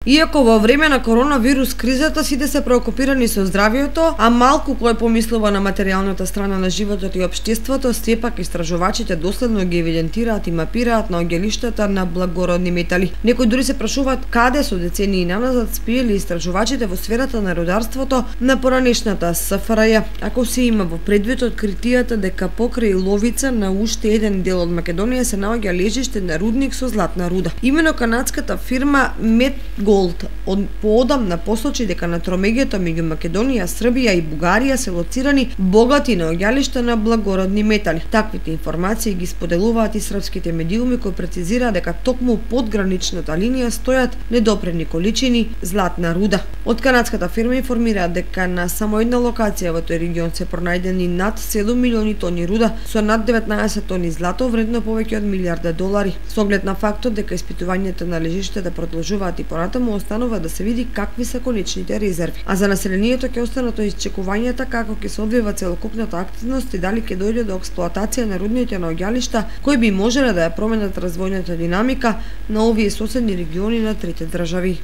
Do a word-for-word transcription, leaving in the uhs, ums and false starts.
Иако во време на коронавирус кризата сите се преокупирани со здравието, а малку кој помислува на материјалната страна на животот и општеството, сепак истражувачите доследно ги евидентираат и мапираат наоѓалиштата на благородни метали. Некои дури се прашуваат каде со децении наназад спиеле истражувачите во сферата на рударството на поранешната С Ф Р Ј, ако се има во предвид откритијата дека покрај Ловица на уште еден дел од Македонија се наоѓа лежиште на рудник со златна руда. Имено канадската фирма Медголд од поодамна посочи дека на тромеѓето меѓу Македонија, Србија и Бугарија се лоцирани богати наоѓалишта на благородни метали. Таквите информации ги споделуваат и српските медиуми кои прецизираат дека токму под граничната линија стојат недопрени количини златна руда. Од канадската фирма информираат дека на само една локација во тој регион се пронајдени над седум милиони тони руда со над деветнаесет тони злато вредно повеќе од милијарда долари. Со оглед на фактот дека испитувањето на лежиштата продолжуваат и понатаму, останува да се види какви се конечните резерви. А за населението ќе останат исчекувањата како ќе се одвива целокупната активност и дали ќе дојде до експлоатација на рудните наоѓалишта кои би можеле да ја променат развојната динамика на овие соседни региони на трите држави.